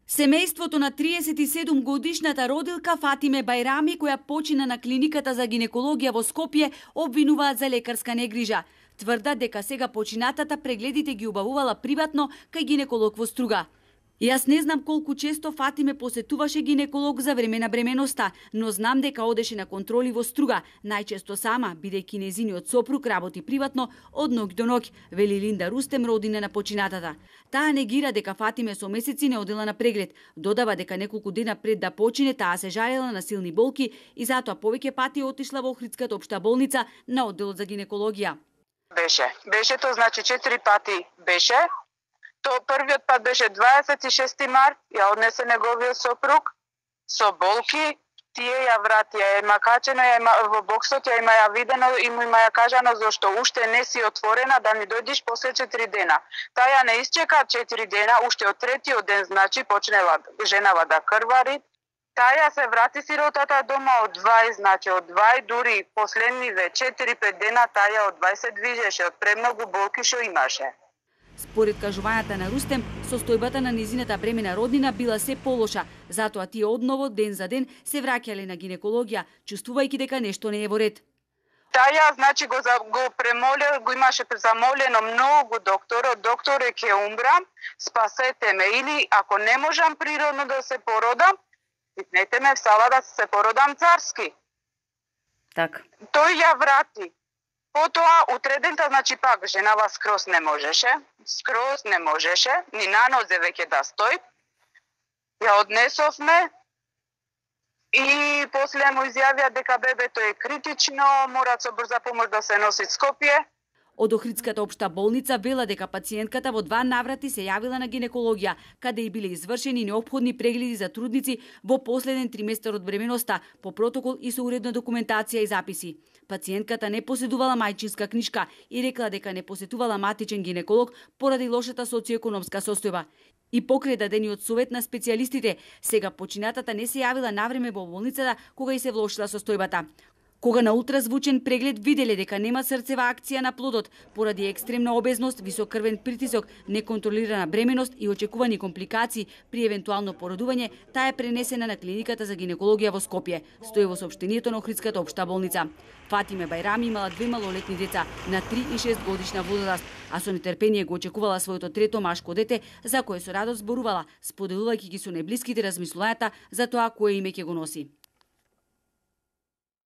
Семејството на 37 годишната родилка Фатиме Бајрами, која почина на клиниката за гинекологија во Скопје, обвинуваат за лекарска негрижа. Тврдат дека сега починатата прегледите ги убавувала приватно кај гинеколог во Струга. Јас не знам колку често Фатиме посетуваше гинеколог за време на бременоста, но знам дека одеше на контроли во Струга, најчесто сама, бидејќи незиниот сопруг работи приватно од ноќ до ноќ, вели Линда Рустем, родина на починатата. Таа негира дека Фатиме со месеци не одела на преглед. Додава дека неколку дена пред да почине таа се жалела на силни болки и затоа повеќе пати отишла во Охридската општа болница на одделот за гинекологија. Беше тоа, значи 4 пати беше. То првиот пат беше 26 март, ја однесе неговиот сопруг со болки, тие ја вратија, има качено, во боксот ја има ја видено и му има ја кажано зашто уште не си отворена да ми дојдиш после 4 дена. Таа ја не исчека 4 дена, уште од третиот ден, значи почнела женава да крвари. Таа ја се врати сиротата дома од 2, значи од 2, дури последниве 4-5 дена таа ја од 20 движеше, од премногу болки што имаше. Според кажувањата на Рустем, состојбата на незината бремена роднина била се полоша, затоа тие одново ден за ден се враќале на гинекологија, чувствувајќи дека нешто не е во ред. Таја, значи, го премолил, го имаше замолено многу докторе ќе умрам, спасете ме, или ако не можам природно да се породам, итнете ме в сала да се породам царски. Так. Тој ја врати. Потоа, утредента, значи пак, женава скроз не можеше, ни на нозе веќе да стои. Ја однесовме и после му изјавија дека бебето е критично, мора со брза помош да се носи Скопје. Од Охридската општа болница вела дека пациентката во 2 наврати се јавила на гинекологија, каде и биле извршени неопходни прегледи за трудници во последен триместар од бременоста, по протокол и со уредна документација и записи. Пациентката не поседувала мајчинска книшка и рекла дека не посетувала матичен гинеколог поради лошата социоекономска состојба. И покрај дадениот совет на специјалистите, сега починатата не се јавила навреме во болницата кога и се влошила состојбата. Кога на ултразвучен преглед виделе дека нема срцева акција на плодот, поради екстремна обезност, висок крвен притисок, неконтролирана бременост и очекувани компликации при евентуално породување, таа е пренесена на клиниката за гинекологија во Скопје, стои во соопштението на Охридската општа болница. Фатиме Бајрами имала 2 малолетни деца на 3 и 6 годишна возраст, а со нетрпение го очекувала своето трето машко дете, за кое со радост зборувала, споделувајќи ги со најблиските размислувањата за тоа кое име ќе го носи.